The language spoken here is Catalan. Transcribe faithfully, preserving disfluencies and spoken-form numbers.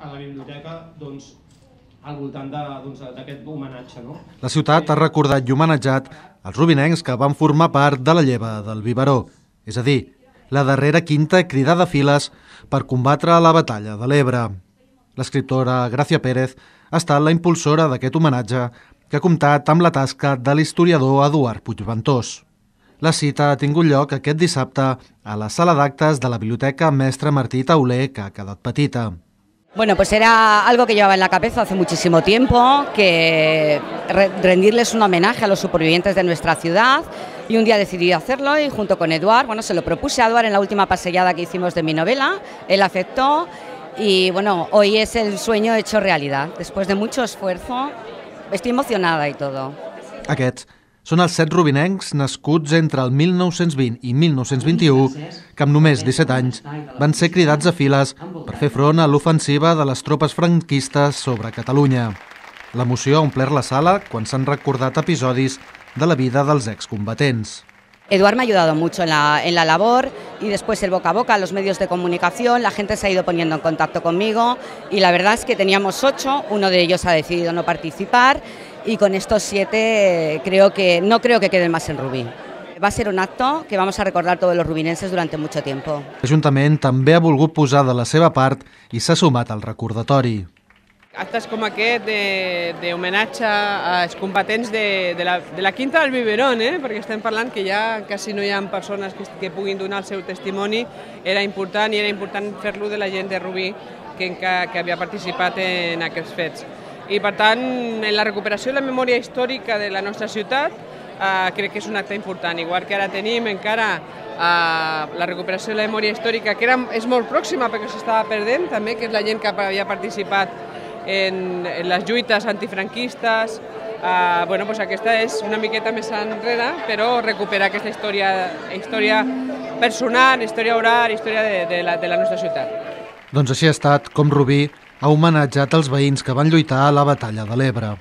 a la biblioteca doncs, al voltant d'aquest homenatge. No? La ciutat ha recordat i homenatjat els rubinencs que van formar part de la lleva del Biberó, és a dir, la darrera quinta cridada files per combatre la batalla de l'Ebre. L'escriptora Gràcia Pérez ha estat la impulsora d'aquest homenatge que ha comptat amb la tasca de l'historiador Eduard Puigventós. La cita ha tingut lloc aquest dissabte a la sala d'actes de la Biblioteca Mestre Martí Tauler, que ha quedat petita. Bueno, pues era algo que llevaba en la cabeza hace muchísimo tiempo, que rendirles un homenaje a los supervivientes de nuestra ciudad, y un día decidí hacerlo y junto con Eduard, bueno, se lo propuse a Eduard en la última paseada que hicimos de mi novela, él aceptó y bueno, hoy es el sueño hecho realidad. Después de mucho esfuerzo, estoy emocionada y todo. Aquests són els set rubinencs nascuts entre el mil nou-cents vint i mil nou-cents vint-i-u que amb només disset anys van ser cridats a files per fer front a l'ofensiva de les tropes franquistes sobre Catalunya. L'emoció ha omplert la sala quan s'han recordat episodis de la vida dels excombatents. Eduard me ha ayudado mucho en la, en la labor y después el boca a boca, los medios de comunicación, la gente se ha ido poniendo en contacto conmigo y la verdad es que teníamos ocho, uno de ellos ha decidido no participar y con estos siete creo que, no creo que queden más en Rubí. Va a ser un acto que vamos a recordar todos los rubinenses durante mucho tiempo. L'Ajuntament també ha volgut posar de la seva part i s'ha sumat al recordatori. Actes com aquest d'homenatge als combatents de, de, la, de la Quinta del Biberón, eh? perquè estem parlant que ja quasi no hi ha persones que, que puguin donar el seu testimoni, era important i era important fer-lo de la gent de Rubí que, que havia participat en aquests fets. I per tant, en la recuperació de la memòria històrica de la nostra ciutat eh, crec que és un acte important, igual que ara tenim encara eh, la recuperació de la memòria històrica que era, és molt pròxima perquè s'estava perdent també, que és la gent que havia participat en, en les lluites antifranquistes. Uh, bueno, pues aquesta és una miqueta més enrere, però recuperar aquesta història, història personal, història oral, història de, de, la, de la nostra ciutat. Doncs així ha estat com Rubí ha homenatjat els veïns que van lluitar a la batalla de l'Ebre.